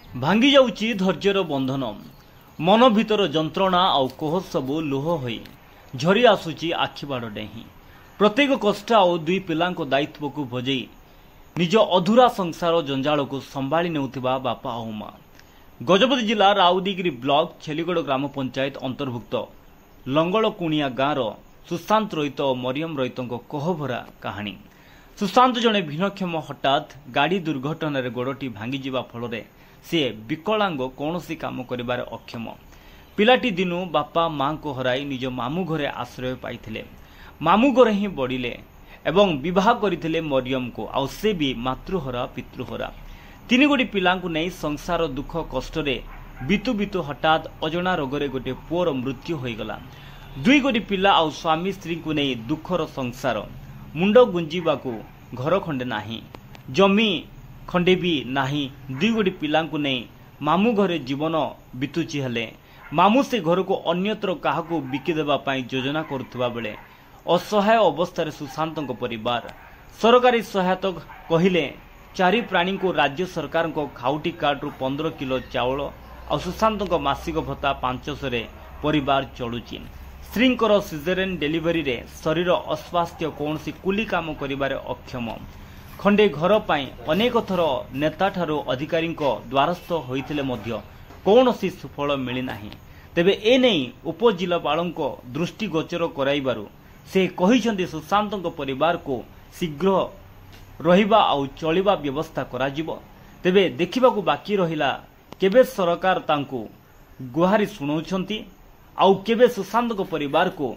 ଭାଙ୍ଗି ଯାଉଛି ଧୈର୍ଯ୍ୟର ବନ୍ଧନ। ମନ ଭିତର ଯନ୍ତ୍ରଣା ଆଉ କୋହ ସବୁ ଲୁହ ହୋଇ ଝରି ଆସୁଛି ଆଖିବାଡ଼ ଡେହିଁ। ପ୍ରତ୍ୟେକ କଷ୍ଟ ଆଉ ଦୁଇ ପିଲାଙ୍କ ଦାୟିତ୍ୱକୁ ଭଜେଇ ନିଜ ଅଧୁରା ସଂସାର ଜଞ୍ଜାଳକୁ ସମ୍ଭାଳି ନେଉଥିବା ବାପା ଆଉ ମା। ଗଜପତି ଜିଲ୍ଲା ରାଉଦିଗିରି ବ୍ଲକ ଛେଲିଗଡ଼ ଗ୍ରାମ ପଞ୍ଚାୟତ ଅନ୍ତର୍ଭୁକ୍ତ ଲଙ୍ଗଳକୁଣିଆ ଗାଁର ସୁଶାନ୍ତ ରଇତ ଓ ମରିୟମ ରଇତଙ୍କ କୋହଭରା କାହାଣୀ। ସୁଶାନ୍ତ ଜଣେ ଭିନ୍ନକ୍ଷମ। ହଠାତ୍ ଗାଡ଼ି ଦୁର୍ଘଟଣାରେ ଗୋଡ଼ଟି ଭାଙ୍ଗିଯିବା ଫଳରେ ସେ ବିକଳାଙ୍ଗ, କୌଣସି କାମ କରିବାରେ ଅକ୍ଷମ। ପିଲାଟି ଦିନୁ ବାପା ମାଙ୍କୁ ହରାଇ ନିଜ ମାମୁଁ ଘରେ ଆଶ୍ରୟ ପାଇଥିଲେ। ମାମୁଁ ଘରେ ହିଁ ବଢ଼ିଲେ ଏବଂ ବିବାହ କରିଥିଲେ ମରିୟମକୁ, ଆଉ ସେ ବି ମାତୃହରା ପିତୃହରା। ତିନି ଗୋଟି ପିଲାଙ୍କୁ ନେଇ ସଂସାର ଦୁଃଖ କଷ୍ଟରେ ବିତୁ ବିତୁ ହଠାତ୍ ଅଜଣା ରୋଗରେ ଗୋଟିଏ ପୁଅର ମୃତ୍ୟୁ ହୋଇଗଲା। ଦୁଇ ଗୋଟି ପିଲା ଆଉ ସ୍ୱାମୀ ସ୍ତ୍ରୀଙ୍କୁ ନେଇ ଦୁଃଖର ସଂସାର। ମୁଣ୍ଡ ଗୁଞ୍ଜିବାକୁ ଘର ଖଣ୍ଡେ ନାହିଁ, ଜମି ଖଣ୍ଡେ ବି ନାହିଁ। ଦୁଇ ଗୋଟି ପିଲାଙ୍କୁ ନେଇ ମାମୁଁ ଘରେ ଜୀବନ ବିତୁଛି। ହେଲେ ମାମୁଁ ସେ ଘରକୁ ଅନ୍ୟତ୍ର କାହାକୁ ବିକିଦେବା ପାଇଁ ଯୋଜନା କରୁଥିବା ବେଳେ ଅସହାୟ ଅବସ୍ଥାରେ ସୁଶାନ୍ତଙ୍କ ପରିବାର। ସରକାରୀ ସହାୟତା କହିଲେ ଚାରି ପ୍ରାଣୀଙ୍କୁ ରାଜ୍ୟ ସରକାରଙ୍କ ଖାଉଟି କାର୍ଡରୁ 15 କିଲୋ ଚାଉଳ ଆଉ ସୁଶାନ୍ତଙ୍କ ମାସିକ ଭତ୍ତା 500ରେ ପରିବାର ଚଳୁଛି। ସ୍ତ୍ରୀଙ୍କର ସିଜେରିଆନ୍ ଡେଲିଭରିରେ ଶରୀର ଅସ୍ୱାସ୍ଥ୍ୟ, କୌଣସି କୁଲି କାମ କରିବାରେ ଅକ୍ଷମ। ଖଣ୍ଡେ ଘର ପାଇଁ ଅନେକ ଥର ନେତାଠାରୁ ଅଧିକାରୀଙ୍କ ଦ୍ୱାରସ୍ଥ ହୋଇଥିଲେ ମଧ୍ୟ କୌଣସି ସୁଫଳ ମିଳିନାହିଁ। ତେବେ ଏନେଇ ଉପଜିଲ୍ଲାପାଳଙ୍କ ଦୃଷ୍ଟିଗୋଚର କରାଇବାରୁ ସେ କହିଛନ୍ତି, ସୁଶାନ୍ତଙ୍କ ପରିବାରକୁ ଶୀଘ୍ର ରହିବା ଆଉ ଚଳିବା ବ୍ୟବସ୍ଥା କରାଯିବ। ତେବେ ଦେଖିବାକୁ ବାକି ରହିଲା କେବେ ସରକାର ତାଙ୍କୁ ଗୁହାରି ଶୁଣାଉଛନ୍ତି ଆଉ କେବେ ସୁଶାନ୍ତଙ୍କ ପରିବାରକୁ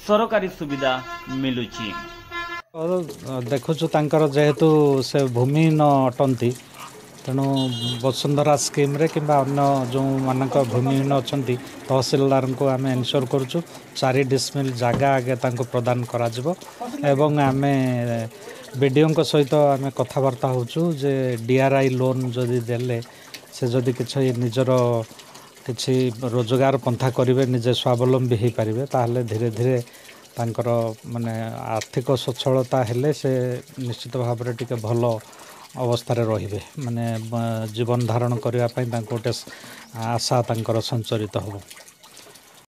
ସରକାରୀ ସୁବିଧା ମିଳୁଛି। ଦେଖୁଛୁ, ତାଙ୍କର ଯେହେତୁ ସେ ଭୂମିହୀନ ଅଟନ୍ତି, ତେଣୁ ବସୁନ୍ଧରା ସ୍କିମ୍ରେ କିମ୍ବା ଅନ୍ୟ ଯେଉଁମାନଙ୍କ ଭୂମିହୀନ ଅଛନ୍ତି, ତହସିଲଦାରଙ୍କୁ ଆମେ ଏନସିଓର କରୁଛୁ 4 ଡିସମିଲ୍ ଜାଗା ଆଗେ ତାଙ୍କୁ ପ୍ରଦାନ କରାଯିବ। ଏବଂ ଆମେ ବିଡ଼ିଓଙ୍କ ସହିତ ଆମେ କଥାବାର୍ତ୍ତା ହେଉଛୁ ଯେ ଡିଆର୍ଆଇ ଲୋନ୍ ଯଦି ଦେଲେ ସେ ଯଦି କିଛି ନିଜର କିଛି ରୋଜଗାର ପନ୍ଥା କରିବେ, ନିଜେ ସ୍ୱାବଲମ୍ବୀ ହେଇପାରିବେ, ତାହେଲେ ଧୀରେ ଧୀରେ ତାଙ୍କର ମାନେ ଆର୍ଥିକ ସଚ୍ଛଳତା ହେଲେ ସେ ନିଶ୍ଚିତ ଭାବରେ ଟିକେ ଭଲ ଅବସ୍ଥାରେ ରହିବେ, ମାନେ ଜୀବନ ଧାରଣ କରିବା ପାଇଁ ତାଙ୍କୁ ଗୋଟେ ଆଶା ତାଙ୍କର ସଞ୍ଚରିତ ହେବ।